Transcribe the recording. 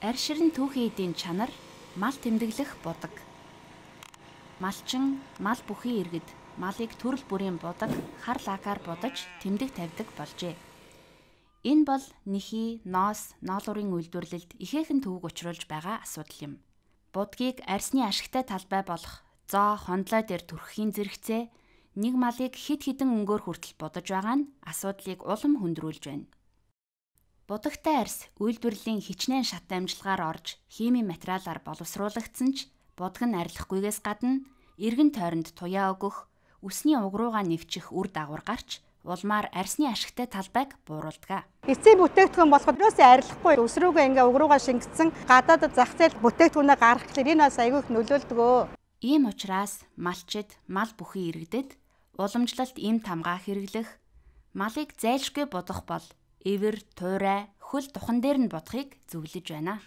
Арширын түүхийн эдийн чанар мал тэмдэглэх будаг. Малчин мал бүхий иргэд малыг төрөл бүрийн будаг хар лакаар будаж тэмдэг тавьдаг болжээ. Энэ бол нэхий, ноос, ноолуурын үйлдвэрлэлд ихээхэн төвөг учруулж байгаа асуудал юм. Будгийг арьсны ашигтай талбай болох зоо, хондлой дээр түрхэхийн зэрэгцээ нэг малыг хэд хэдэн өнгөөр хүртэл будаж байгаа нь асуудлыг улам хүндрүүлж байна. Будагтай арьс үйлдвэрлэлийн хичнээн шат амжилгаар орж химийн материалаар боловсруулагдсан ч будаг нь арилахгүйгээс гадна эргэн тойронд туяа өгөх, үсний уг руугаа нэвчих үр дагавар гарч улмаар арьсны ашигтай талбайг бууруулдаг. Эцсийн бүтээгдэхүүн болоход юусаа арилахгүй ус руугаа ингээ уг руугаа шингэсэн гадаадд зах зээл бүтээгдэхүүнээ гаргах гэхээр энэ бас аягүй их нөлөөлдөг. Ийм учраас малчид мал бүхий иргэдэд уламжлалт эм тамгаа хэрэглэх, малыг зайлшгүй будах бол эвэр, туурай, хөл духан дээр нь бодохыг зөвлөж байна.